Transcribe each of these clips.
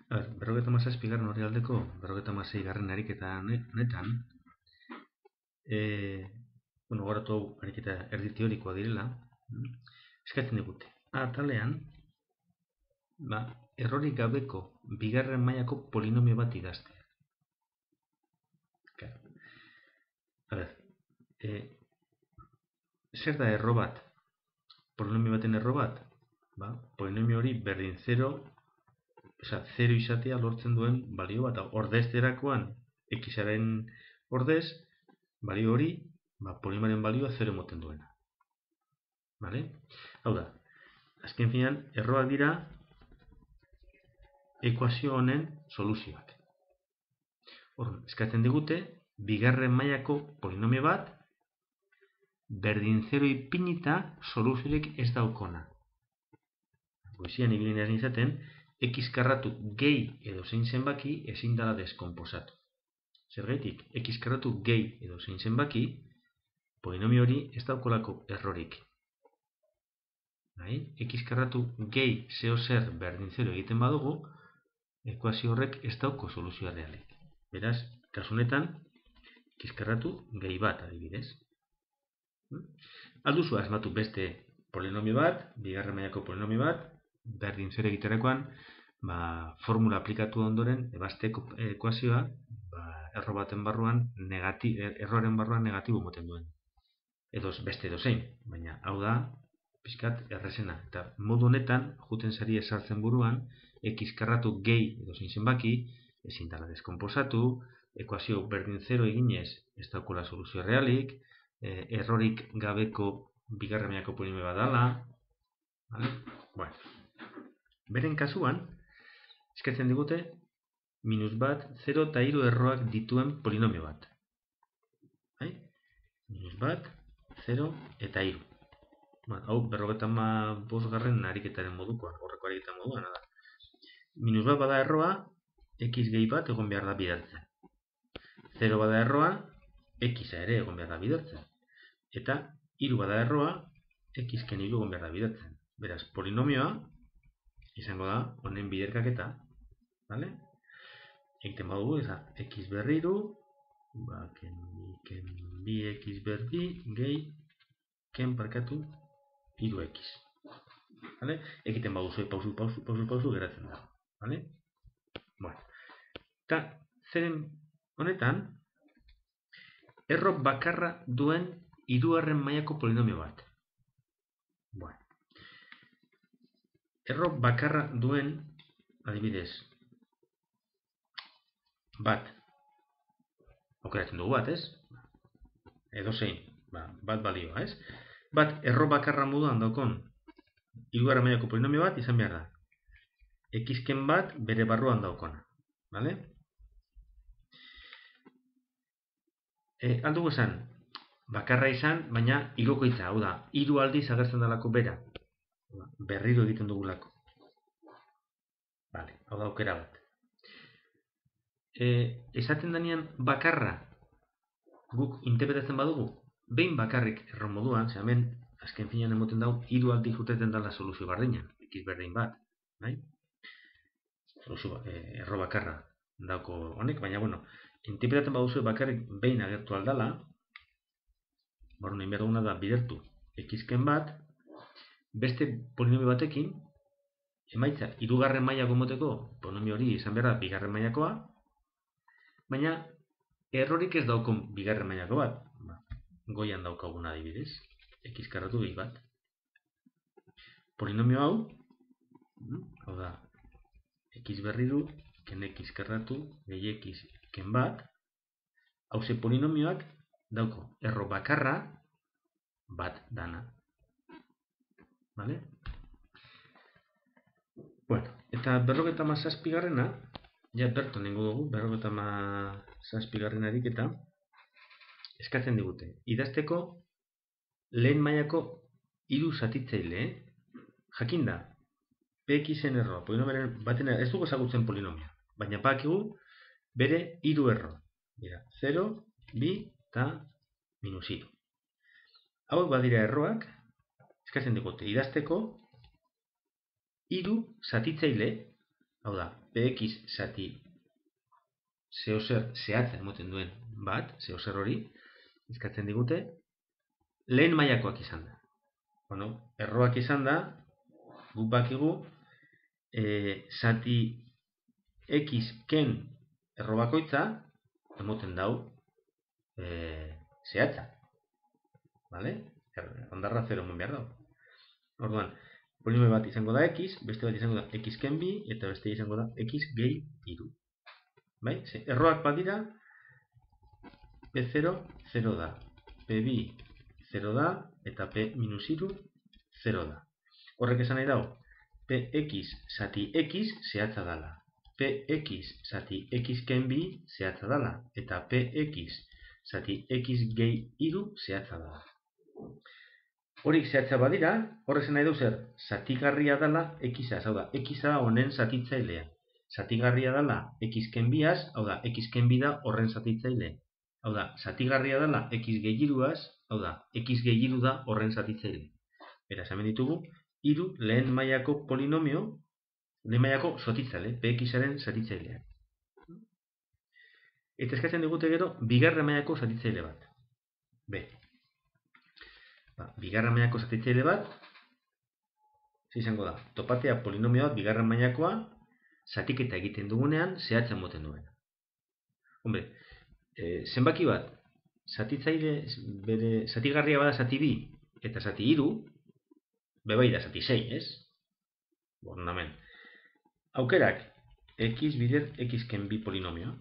Berrogeita hamazazpigarren orrialdeko berrogeita hamaseigarren ariketa honetan, goratu hau ariketa erdi teorikoa direla, eskatzen digute. Atalean, errorik gabeko bigarren mailako polinomio bat idaztea. Zer da erro bat? Polinomio baten erro bat? Polinomio hori berdin 0 izatea lortzen duen balio bat. Ordezterakoan xaren ordez, balio hori, polinomioaren balioa 0 emoten duena. Hau da, azken finean, erroak dira ekuazio honen soluzioak. Eskatzen digute, bigarren mailako polinomio bat, berdin 0 ipinita soluziorik ez daukona. Goizian ibilinean izaten, x karratu gehi edo zein zenbaki ezin dela deskonposatu. Zergaitik, x karratu gehi edo zein zenbaki, polinomio hori ez daukolako errorik. X karratu gehi zeo zer berdin 0 egiten badugu, ekuazio horrek ez dauko soluzioa realik. Beraz, kasunetan, x karratu gehi bat adibidez. Alduzu asmatu beste polinomio bat, bigarren mailako polinomio bat, berdin 0 egiterakoan, formula aplikatu ondoren, ebazteko ekuazioa, erroaren barruan negatibo moten duen. Beste edo zein, baina hau da, pixkat errezena. Eta modu honetan, juten sari esartzen buruan, x karratu gehi edo zein zenbaki, ezin dela deskonposatu, ekuazio berdin 0 eginez ez daukula soluzio realik, errorik gabeko bigarren mailako polinomio bat dela. Beren kasuan, eskatzen digute, -1, 0 eta 3 erroak dituen polinomio bat. -1, 0 eta 3. Hau, 55garren ariketaren modukoa, horreko ariketaren moduan da. -1 bada erroa, x gehi bat egon behar da bidaltzen. 0 bada erroa, x ere egon behar da bidaltzen. Eta 3 bada erroa, x ken 3 egon behar da bidaltzen. Beraz, polinomioa izango da honen biderkaketa. Egiten badugu, x berriru, ken 2x berdi, gehi, ken parkatu 3x. Egiten baduzu, pausu, geratzen da. Eta, zeren honetan, erro bakarra duen hirugarren mailako polinomio bat. Erro bakarra duen, adibidez, bat, aukeratzen dugu bat, ez? Edo zein, bat balioa, ez? Bat, erro bakarra moduan daukon hirugarren mailako polinomio bat izan behar da. X-ken bat bere barruan daukona. Aldugu esan, bakarra izan, baina hirukoitza, hau da, 3 aldiz agertzen dalako bera. Berriro egiten dugulako. Hau da aukera bat. Esaten denean bakarra guk interpretatzen badugu, behin bakarrik erro moduan, hemen azken finean emoten dau, 3 aldiz urteten dela soluzio berdina, x berdin bat. Erro bakarra dauko honek, baina interpretatzen baduzu bakarrik behin agertu aldala, nahi behar duguna da bidertu x-ken bat, beste polinomio batekin, emaitza, 3. mailako moteko polinomio hori izan behar da bigarren mailakoa, baina errorik ez daukon bigarren mailako bat. Goian daukaguna adibidez, x karratu gehi bat. Polinomio hau da, x berriru, ken x karratu, gehi x ken bat, hauze polinomioak dauko erro bakarra bat dana. Eta 57garrena, berton nengo dugu, 57garren ariketa, eskatzen digute. Idazteko lehen mailako 3 zatitzaile, jakinda, px-en erroa, polinomioaren baten ez dugu ezagutzen polinomia, baina bakigu bere 3 erro. 0, 2 eta -3. Hauek badira erroak, eskatzen digute idazteko 3 zatitzaile hau da, px zati zeo zer zehatza emoten duen bat, zeo zer hori, eskatzen digute, lehen mailakoak izan da. Bueno, erroak izan da, guk bakigu, zati x ken erro bakoitza, emoten dau, zehatza. Vale? Ondarra 0 eman behar dau. Orduan, polinomio bat izango da x, beste bat izango da x ken bi, eta beste izango da x gehi 3. Bai? Erroak badira, p0, 0 da. p2, 0 da, eta p-3, 0 da. Horrek esan nahi dau, px zati x zehatza dala. px zati x ken bi zehatza dala. Eta px zati x gehi 3 zehatza dala. Horik zehatza badira, horrek esan nahi du zer, zatigarria dala x-az, hau da, x-a honen zatitzailea. Zatigarria dala x ken biaz, hau da, x ken bi da horren zatitzaile. Hau da, zatigarria dala x gehi 3az, hau da, x gehi 3 da horren zatitzaile. Beraz, hemen ditugu, 3 lehen mailako polinomio, lehen mailako zatitzaile, px-aren zatitzailea. Eta eskatzen digute gero, bigarren mailako zatitzaile bat. B. Bigarren mailako zatitzaile bat, izango da, topatea polinomio bat bigarren mailakoa, zatiketa egiten dugunean, zehatza emoten duen. Hombre, zenbaki bat, zatitzaile, bere, zatigarria bada zati 2 eta zati 3, bebai da zati 6, ez? Bornamen. Aukerak, x bider x ken bi polinomioa.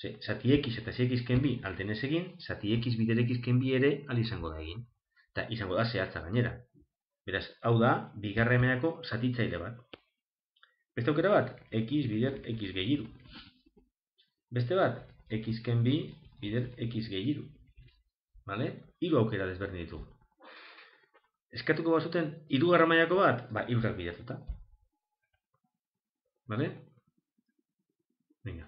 Zati x eta zati x ken bi aldenez egin, zati x bider x ken bi ere al izango da egin. Eta izango da zehatza gainera. Beraz, hau da, bigarren mailako zatitzaile bat. Beste aukera bat, x bider x gehi 3. Beste bat, x ken bi bider x gehi 3. Vale? 3 aukera desberdin ditugu. Eskatuko bazuten, 3. mailako bat, 3ak bidertuta. Vale? Venga.